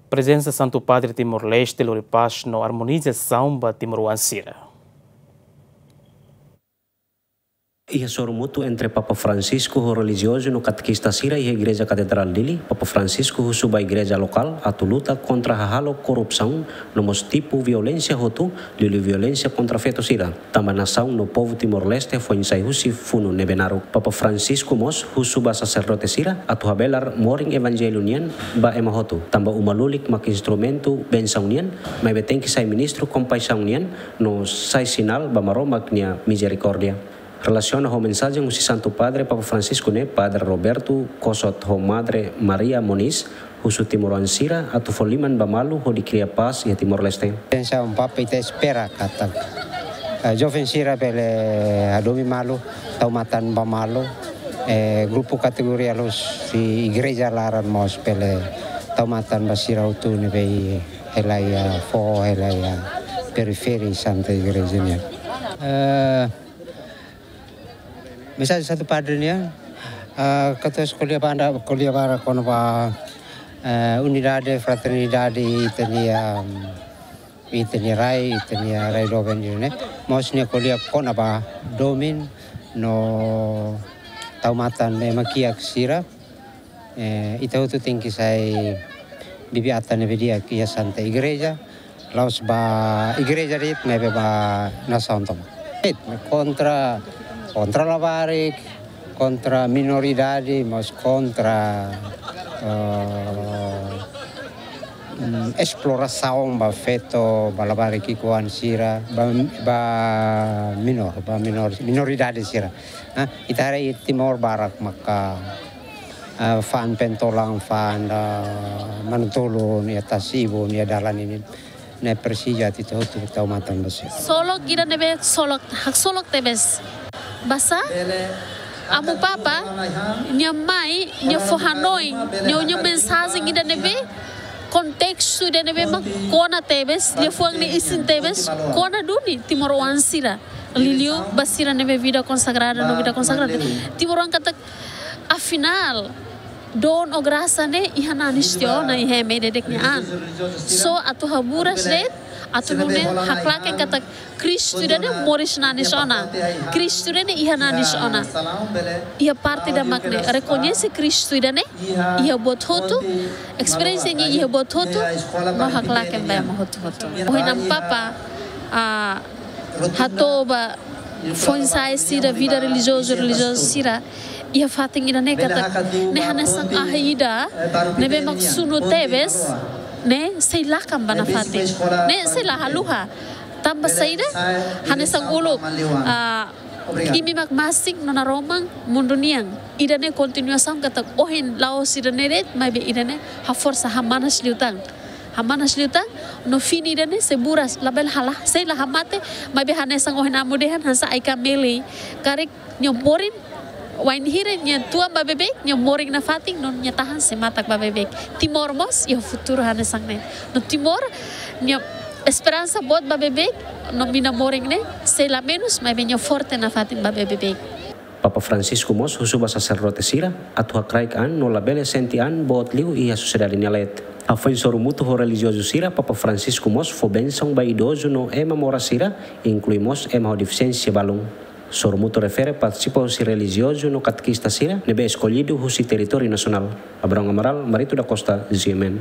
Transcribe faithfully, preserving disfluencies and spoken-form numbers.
Prezensa Santu Padre Timor-Leste lori pás no armonizasaun ba timoroan sira. Iha sorumutu entre Papa Francisco ho relijiozu no katekista sira iha Igreja Katedrál Dili, Papa Francisco husu ba igreja lokál atu luta kontra hahalok korrupsaun no mós tipu violénsia hotu, liuliu violénsia kontra feto sira, tanba nasaun no povu Timor-Leste foin sai husi funu ne'ebé naruk. Papa Francisco mós husu ba saserdote sira atu habelar morin evanjellu nian ba ema hotu, tanba uma lulik mak instrumentu bensaun nian, maibé tenke sai ministru kompaixaun nian, no sai sinál ba Maromak nia mizerikórdia. Relasiona ho mensajen husi Santu Padre, Papa Francisco ne'e, Padre Roberto Cosot ho Madre Maria Moniz, husu timoroan sira atu fó liman ba malu hodi kria pás iha Timor-Leste. Pensa um Papa ita espera katak, eh, joven sira bele hadomi malu, tau matan ba malu, eh, grupu kategoria loos husi igreja laran mós bele tau matan ba sira hotu ne'ebé hela iha foho, hela iha periferi Santa Igreja nian. Eh, mensajen Santu Padre nian, eh, katuas ko'alia banda, ko'alia barak kona-ba, eh, unidade, fraternidade, ita-nia, mm, ita-nia rai, ita-nia rai doben ne'e. Mós nia ko'alia kona-ba domin no tau matan ema kiak sira. Eh, ita hotu tenke sai bibi-atan ne'ebé di'ak iha Santa Igreja, la'ós ba igreja de'it, maibé ba nasaun tomak. Kontra, kontra labarik, kontra minoridade, mós kontra, eh, mm, esplorasaun ba feto, ba labarik ki'ikoan sira, ba, ba minór, ba minór, minoridade sira. Ah, ita haree Timor barak maka, ah, fa'an pentolan, fa'an, ah, manu-tolun, iha tasi-ibun, iha dalan ninin. Ne'e presiza atu ita hotu tau matan ba sira. Solok ida ne'ebé solok, haksolok tebes. Basá, Amu Papa, nia mai, nia fó hanoin, nia, nia mensajen ida ne'ebé, kontestu ida ne'ebé mak kona tebes, liafuan ne'e isin tebes, kona duni timoroan sira. Liuliu ba sira ne'ebé vida konsagrada, no vida konsagrada. Timoroan katak, afinál, don ou grasa ne'e iha nanis tiha ona, iha ema ida-idak nia an. Só atu haburas de'it, atu nune'e haklaken katak Kristu ida-ne'e moris nanis ona. Kristu ida-ne'e iha nanis ona. Iha parte ida mak ne'e, rekoñese Kristu ida-ne'e iha buat hotu, esperiénsia nia iha buat hotu, no haklaken ba ema hotu-hotu. Ohin Amu Papa, ah, hato'o ba foin-sa'e sira, vida relijiozu, relijioza sira, iha fatin ida-ne'e katak, ne'e hanesan ahi ida ne'ebé mak sunu tebes, ne'e sei lakan ba nafatin. Ne'e sei la haluha. Tanba saida, hanesan uluk, ah, imi mak masin no naroman mundu nian. Ida-ne'e kontinuasaun katak ohin la'ós ida-ne'e de'it, maibé ida-ne'e haforsa, hamanas liután. Hamanas liután, no fini ida-ne'e sei buras, labele halo, sei la hamate, maibé hanesan ohin Amu dehan, hanesan ai-kameli. Karik nia morin, wainhira nia tuan ba beibeik, nia morin nafatin, no nia tahan sei matak ba beibeik. Timor mós iha futuru hanesan ne'e. No Timor, nia esperansa boot ba beibeik, no mina morin ne'e, sei la menus, maibé nia forte nafatin ba beibeik. Papa Francisco mós husu ba saserdote sira atu hakraik an no labele sente an boot liu iha sosiedade nia leet. Hafoin sorumutu ho relijiozu sira, Papa Francisco mós fó bensaun ba idozu no ema moras sira, inklui mós ema ho defisiénsia balun. Sorumutu refere partisipa husi relijiozu no katekista sira ne'ebé eskollidu husi territóriu nasionál. Abrão Amaral, Marito da Costa, G M N.